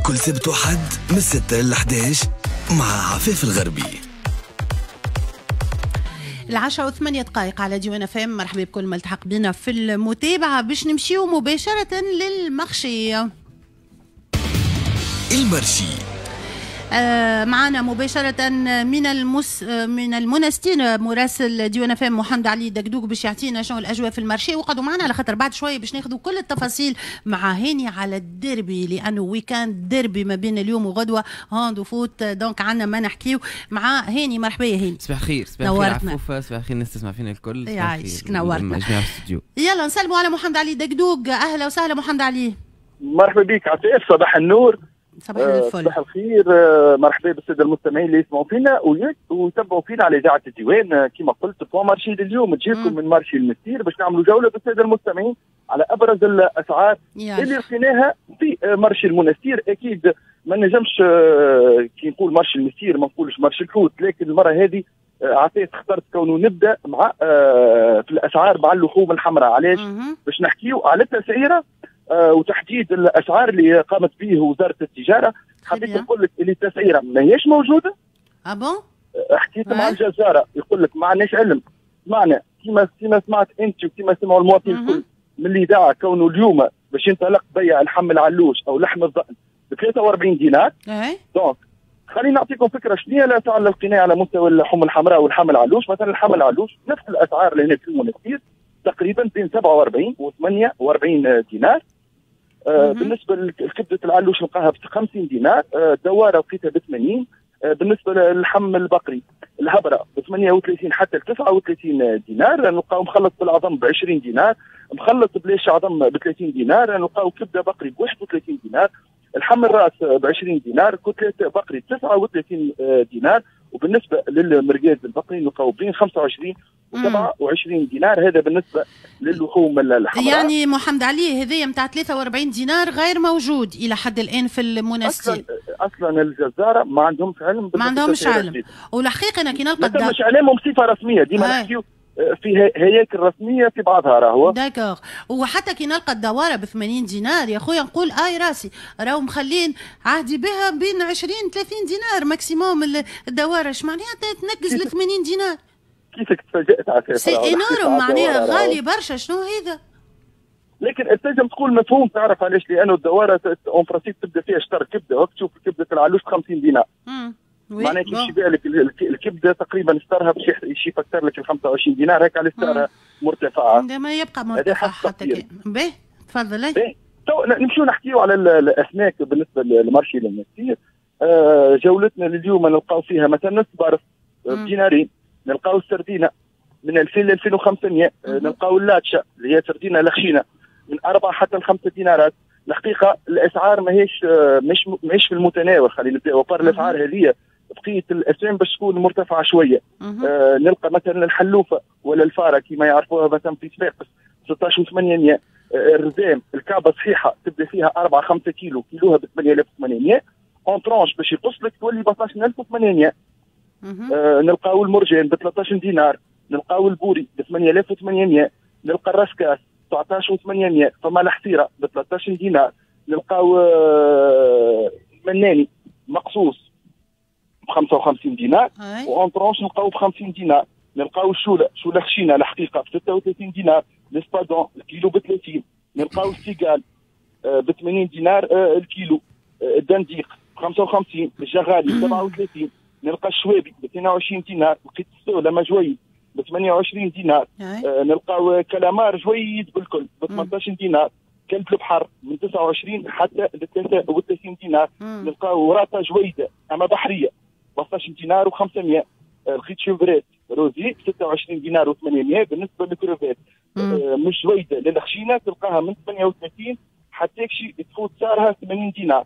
كل سبت وحد من 6 ل 11 مع عفاف الغربي. 10:08 على ديوان FM. مرحبا بكل ما التحق بنا في المتابعة. باش نمشيو مباشرة لل marché. ال marché معنا مباشرة من المنستير مراسل ديوان FM محمد علي دقدوق باش يعطينا شنو الأجواء في ال marché، وقعدوا معنا على خاطر بعد شوية باش ناخذوا كل التفاصيل مع هاني على الديربي، لأنه week-end derby ما بين اليوم وغدوة hand و foot، donc عندنا ما نحكيو مع هاني. مرحبا يا هاني. صباح الخير. صباح الخير عفوفة، صباح الخير الناس تسمع فينا الكل. يعيشك، نورتنا. يلا نسلموا على محمد علي دقدوق. أهلا وسهلا محمد علي. مرحبا بك عفاف، صباح النور. صباح الفل. صباح الخير. مرحبا بالساده المستمعين اللي يسمعوا فينا ويتبعوا فينا على اذاعة الديوان. كما قلت point marché اليوم تجيكم من marché المستير باش نعملوا جولة بالساده المستمعين على ابرز الاسعار اللي لقيناها في marché المنستير. اكيد ما نجمش كي نقول marché المستير ما نقولش marché الحوت، لكن المرة هذه عطيت اخترت كونه نبدا مع في الاسعار مع اللحوم الحمراء. علاش؟ باش نحكيو على التسعيره وتحديد الاسعار اللي قامت به وزارة التجارة. حبيت نقول لك اللي التسعيره ماهيش موجودة. ah bon؟ حكيت مع الجزاره يقول لك ما عندناش علم. سمعنا كيما سمعت انت وكيما سمعوا المواطنين الكل من الاذاعة كونه اليوم باش ينطلق بيع لحم العلوش او لحم الضأن ب 43 دينار. donc خليني نعطيكم فكرة شنو هي الاسعار اللي لقيناها على مستوى اللحوم الحمراء واللحم العلوش. مثلا اللحم العلوش نفس الاسعار اللي هنا في المنستير تقريبا بين 47 و 48 دينار. بالنسبة لكبده العلوش نلقاها ب 50 دينار، الدواره لقيتها ب 80. بالنسبة للحم البقري الهبره ب 38 حتى ل 39 دينار، نلقاو مخلط بالعظم ب 20 دينار، مخلط بلاش عظم ب 30 دينار، نلقاو كبده بقري ب 31 دينار، الحم الراس ب 20 دينار، côtelette بقري 39 دينار. وبالنسبة للمرقاز البقري نلقاو بين 25 و 27 دينار. هذا بالنسبة للحوم الحمراء. يعني محمد علي هذايا نتاع 43 دينار غير موجود الى حد الان في المنستير. اصلا الجزاره ما عندهمش علم. ما عندهمش علم. والحقيقة انا كي نلقى ما مش علمهم بصفة رسمية، ديما نحكيو في هياكل رسمية في بعضها راهو. d'accord. وحتى كي نلقى الدواره ب 80 دينار يا خويا نقول اي راسي راهو مخلين عهدي بها بين 20 30 دينار maximum الدواره. اش معناها تنقز ل 80 دينار؟ كيفك تفاجأت على c'est énorme، معناها غالي برشا. شنو هذا؟ لكن تنجم تقول مفهوم، تعرف علاش؟ لانه الدواره en principe تبدا فيها شطر كبده، وقت تشوف كبده العلوش ب 50 دينار. معناها كيف يبيع لك الكبده تقريبا شطرها باش يفكر لك ال 25 دينار، هيك على سعرها مرتفعة. ما يبقى مرتفع حتى كان. باهي تفضل. تو نمشيو نحكيو على الاسماك بالنسبة لل marché المنستير. جولتنا لليوم نلقاو فيها مثلا الصبارف بدينارين، نلقاو السردينه من 2000 ل 2500، نلقاو اللاتشا اللي هي سردينه الخشينه من 4 حتى ل 5 دينارات. الحقيقة الاسعار ماهيش مش في المتناول، خلينا نبداو à part الاسعار هذه بقية الاسعار باش تكون مرتفعة شوية. نلقى مثلا الحلوفه ولا الفارة كما يعرفوها مثلا في صفاقس 16 800. الرزام الكعبة صحيحه تبدا فيها 4 5 كيلو، كيلوها ب 8800، en tranches باش يقص لك تولي ب 12800. نلقاو المرجان ب 13 دينار، نلقاو البوري ب 8800، نلقى ال rascasse 19800، فما الحصيرة ب 13 دينار، نلقاو مناني مقصوص ب 55 دينار، و en tranches نلقاو ب 50 دينار، نلقاو الشوله شوله خشينه الحقيقة ب 36 دينار، l'espadon الكيلو ب 30، نلقاو ال cigale ب 80 دينار الكيلو، الدنديق ب 55، الجغالي ب 37، نلقى الشوابي ب 22 دينار، لقيت ال sole ما جويد ب 28 دينار، نلقاو كلامار جويد بالكل ب 18 دينار، كلب البحر من 29 حتى ل 33 دينار، نلقاو راطه جويده اما بحرية ب 16 دينار و500، لقيت chevrette rosée ب 26 دينار و800. بالنسبة للكروفات مش جويده للخشينه تلقاها من 38 حتى شي تفوت سعرها 80 دينار.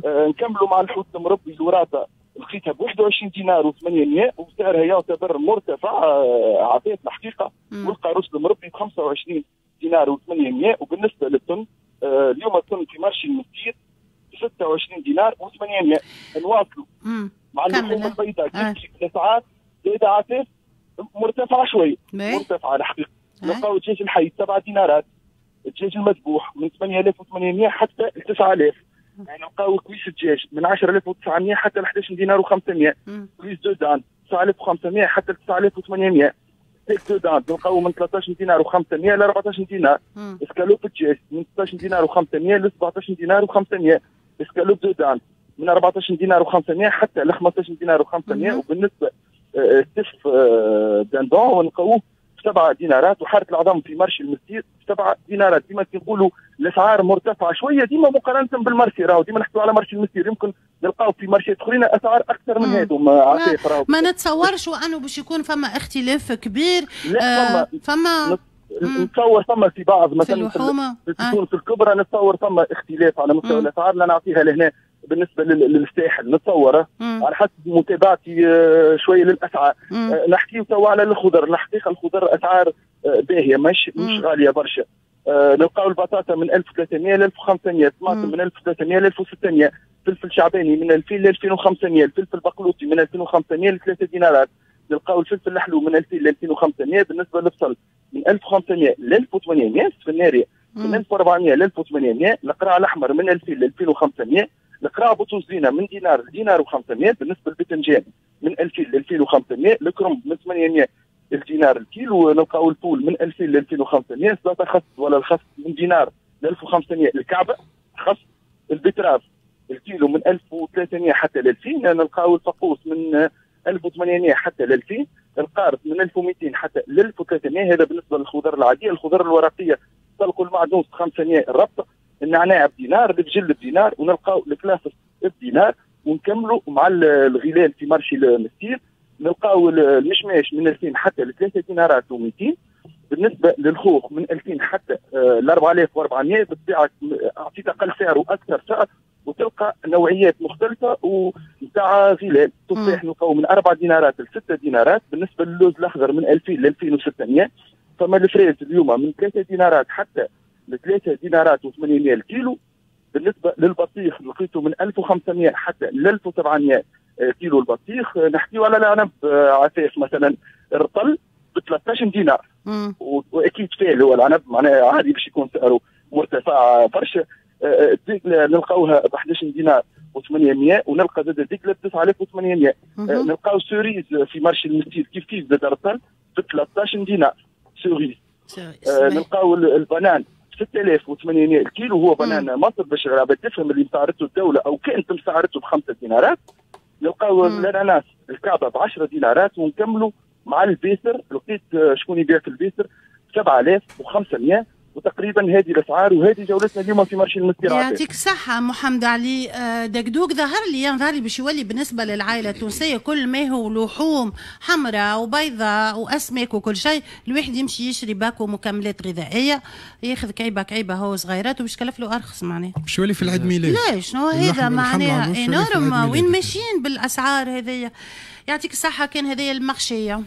نكملوا مع الحوت المربي الوراثة لقيتها ب 21 دينار و800 وسعرها يعتبر مرتفع عطيت الحقيقة. والقاروس المربي ب 25 دينار و800. وبالنسبة للطن اليوم الطن في marché المستير 26 دينار و800. نواصلوا مع اللحوم البيضاء كيف الاسعار زايدة عفاف مرتفعة شوية، مرتفعة الحقيقة. نلقاو الدجاج الحي 7 دينارات، الدجاج المذبوح من 8800 حتى ل 9000. نلقاو cuisse دجاج من 10900 حتى ل 11 دينار و500، cuisse de dinde 9500 حتى ل 9800، steak de dinde نلقاو من 13 دينار و500 ل 14 دينار، اسكالوب دجاج من 16 دينار و500 ل 17 دينار و500، escalope de dinde من 14 دينار و500 حتى ل 15 دينار و500. وبالنسبة ستيف dindon نلقاوه 7 دينارات، وحارة العظم في marché المستير 7 دينارات. ديما كي نقولوا الاسعار مرتفعة شوية ديما مقارنة بال marché، راهو ديما نحكيو على marché المستير، يمكن نلقاو في marché ات اخرين اسعار اكثر من هذو. ما نتصورش وانه باش يكون فما اختلاف كبير. لا فما نتصور فما في بعض مثلا في تونس الكبرى نتصور فما اختلاف على مستوى الاسعار. لا نعطيها لهنا بالنسبة للساحل نتصور على حسب متابعتي شوية للاسعار. نحكيو توا على الخضر، الحقيقة الخضر اسعار باهيه مش غالية برشا. نلقاو البطاطا من 1300 ل 1500، الطماطم من 1300 ل 1600، فلفل شعباني من 2000 ل 2500، الفلفل البقلوطي من 2500 ل 3 دينارات، نلقاو الفلفل الحلو من 2000 ل 2500. بالنسبة للبصل من 1500 ل 1800، السفناريه من 1400 ل 1800، القرع الاحمر من 2000 ل 2500، القرع بوتوزينه من دينار لدينار و500. بالنسبة للبتنجان من 2000 ل 2500، الكرنب من 800 الدينار الكيلو، نلقاو الفول من 2000 ل 2500، سلاطه خس ولا الخس من دينار ل 1500، الكعبة خس، ال betterave الكيلو من 1300 حتى ل 2000، نلقاو الفقوس من 1800 حتى ل 2000، القارص من 1200 حتى ل 1300. هذا بالنسبة للخضر العادية. الخضر الورقية تلقوا المعدنوس 500 الربط، النعناع بدينار، البجل بدينار، ونلقاو الكلافس بدينار. ونكملوا مع الغلال في marché المستير، نلقاو المشماش من 2000 حتى ل 3 دينارات و200. بالنسبة للخوخ من 2000 حتى ل 4400، بالطبيعة اعطيت اقل سعر واكثر سعر، وتلقى نوعيات مختلفة ونتاع غلال. تفاح نلقاو من 4 دينارات ل 6 دينارات. بالنسبة للوز الاخضر من 2000 ل 2600. فما ال fraise اليوم من 3 دينارات حتى ل 3 دينارات و800 الكيلو. بالنسبة للبطيخ لقيته من 1500 حتى ل 1700 كيلو البطيخ. نحكيو على العنب عفاف مثلا الرطل ب 13 دينار، واكيد فيه هو العنب معناها عادي باش يكون سعره مرتفع برشا. الدقله نلقاوها ب 11 دينار و800، ونلقى زاد الدقله ب 9800. نلقاو cerise في marché المستير كيف كيف زاد الرطل ب 13 دينار cerise. نلقاو ال banane 6800 الكيلو، هو banane مصر باش العباد تفهم اللي مسعرته الدولة او كانت مسعرته ب5 دينارات. نلقاو الاناناس الكعبة ب 10 دينارات. ونكملوا مع البيسر، لقيت شكون يبيع في البيسر 7500. وتقريبا هذه الاسعار وهذه جولتنا اليوم في marché المستير. يعطيك الصحة محمد علي دقدوق. ظهر لي باش يولي بالنسبة للعائلة التونسية كل ما هو لحوم حمراء وبيضاء واسماك وكل شيء، الواحد يمشي يشري باكو مكملات غذائية، ياخذ كعيبه كعيبه هو صغيرات وباش يكلف له ارخص معناها. باش يولي في العيد ميلاد. لا شنو هذا معناها énorme، وين ماشيين بالاسعار هذيا؟ يعطيك الصحة. كان هذايا ال marché.